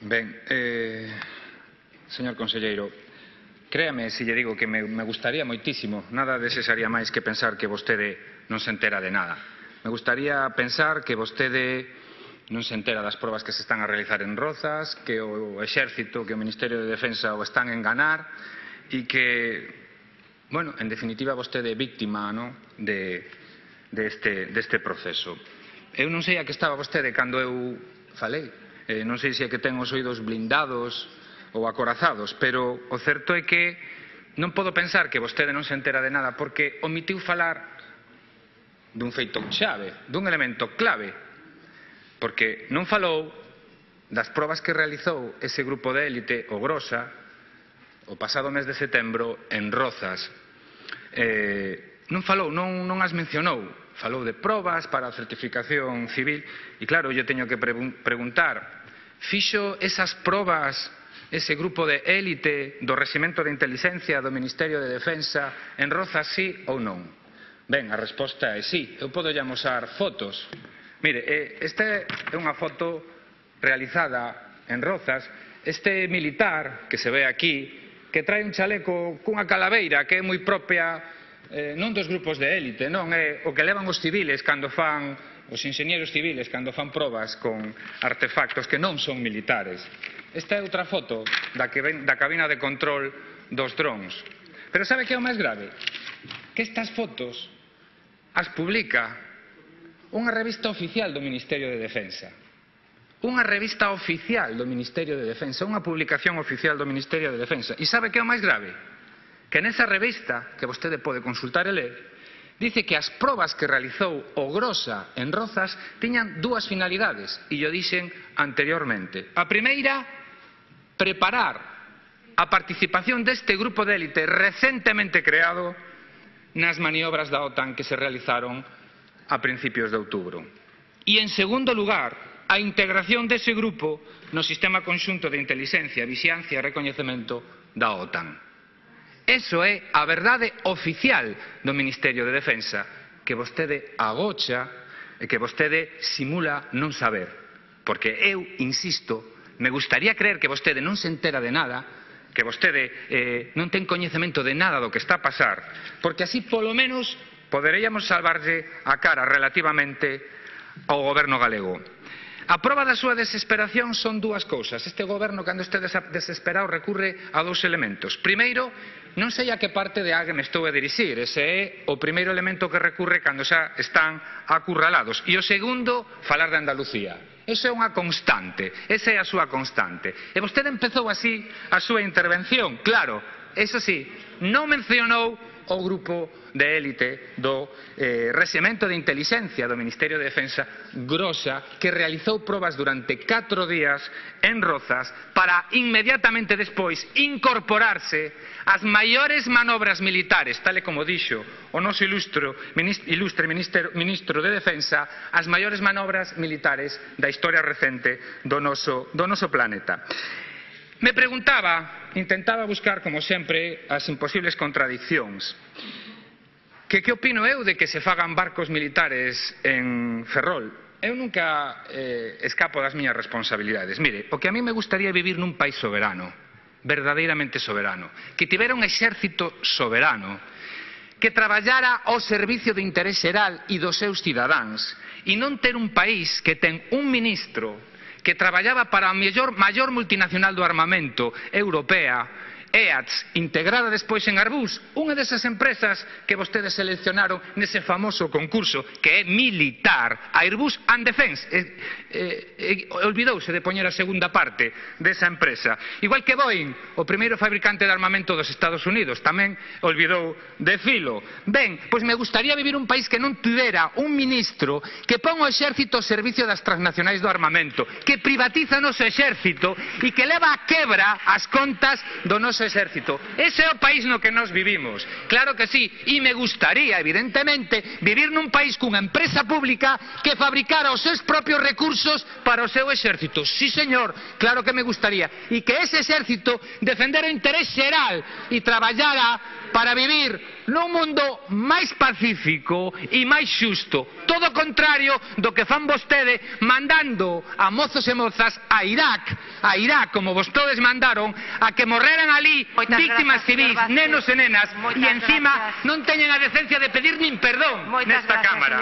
Ben, señor conselleiro, créame se lle digo que me gustaría moitísimo, nada desearía máis que pensar que vostede non se entera de nada. Me gustaría pensar que vostede non se entera das probas que se están a realizar en Rozas, que o Exército, que o Ministerio de Defensa o están a enganar e que, bueno, en definitiva vostede é víctima deste proceso. Eu non sei a que estaba vostede cando eu falei, non sei se é que ten os oídos blindados ou acorazados, pero o certo é que non podo pensar que vostede non se entera de nada porque omitiu falar dun feito chave, dun elemento clave, porque non falou das probas que realizou ese grupo de élite, o Grosa, o pasado mes de setembro en Rozas. Non falou, non as mencionou, falou de probas para a certificación civil e claro, eu teño que preguntar, fixo esas probas ese grupo de élite do Reximento de Inteligencia do Ministerio de Defensa en Rozas, sí ou non? Ben, a resposta é sí. Eu podo lle amosar fotos. Mire, esta é unha foto realizada en Rozas. Este militar que se ve aquí, que trae un chaleco cunha calaveira que é moi propia non dos grupos de élite, non é o que levan os civiles cando fan, os inxeñeros civiles cando fan probas con artefactos que non son militares. Esta é outra foto da cabina de control dos drons. Pero sabe que é o máis grave? Que estas fotos as publica unha revista oficial do Ministerio de Defensa. Unha revista oficial do Ministerio de Defensa, unha publicación oficial do Ministerio de Defensa. E sabe que é o máis grave? Que nesa revista, que vostede pode consultar e ler, dice que as probas que realizou o Grosa en Rozas tiñan dúas finalidades, e yo dixen anteriormente. A primeira, preparar a participación deste grupo de élite recentemente creado nas maniobras da OTAN que se realizaron a principios de outubro. E, en segundo lugar, a integración dese grupo no sistema conxunto de inteligencia, vixiancia e recoñecemento da OTAN. Eso é a verdade oficial do Ministerio de Defensa, que vostede agocha e que vostede simula non saber. Porque eu, insisto, me gustaría creer que vostede non se entera de nada, que vostede non ten coñecemento de nada do que está a pasar, porque así polo menos poderíamos salvarlle a cara relativamente ao goberno galego. A proba da súa desesperación son dúas cousas. Este goberno, cando este desesperado, recurre a dous elementos. Primeiro, non sei a que parte de Ague me estou a dirixir. Ese é o primeiro elemento que recurre cando xa están acurralados. E o segundo, falar de Andalucía. Esa é unha constante, esa é a súa constante. E vostede empezou así a súa intervención. Claro, eso sí, non mencionou o grupo de élite do Reximento de Inteligencia do Ministerio de Defensa, Grosa, que realizou probas durante 4 días en Rozas para inmediatamente despois incorporarse ás maiores manobras militares, tal e como dixo o noso ilustre ministro de Defensa, as maiores manobras militares da historia recente do noso planeta. Me preguntaba, intentaba buscar, como sempre, as imposibles contradiccións. Que opino eu de que se fagan barcos militares en Ferrol? Eu nunca escapo das miñas responsabilidades. Mire, o que a mí me gustaría vivir nun país soberano, verdadeiramente soberano, que tivera un exército soberano, que traballara ao servicio do interés xeral e dos seus cidadáns, e non ter un país que ten un ministro que traballaba para a maior multinacional do armamento europea, EATS, integrada despois en Airbus, unha desas empresas que vostedes seleccionaron nese famoso concurso que é militar, Airbus and Defence. Olvidouse de poñer a segunda parte desa empresa. Igual que Boeing, o primeiro fabricante de armamento dos Estados Unidos, tamén olvidou de filo. Ben, pois me gustaría vivir un país que non tivera un ministro que pon o exército ao servicio das transnacionais do armamento, que privatiza o noso exército e que leva a quebra as contas do noso exército. Ese é o país no que nós vivimos. Claro que sí, e me gustaría, evidentemente, vivir nun país cunha empresa pública que fabricara os seus propios recursos para o seu exército. Sí, señor, claro que me gustaría. E que ese exército defendera o interés xeral e traballara para vivir nun mundo máis pacífico e máis xusto. Todo o contrario do que fan vostede mandando a mozos e mozas a Irak, como vostedes mandaron, a que morreran ali víctimas civis, nenos e nenas, e encima non teñen a decencia de pedir nin perdón nesta Cámara.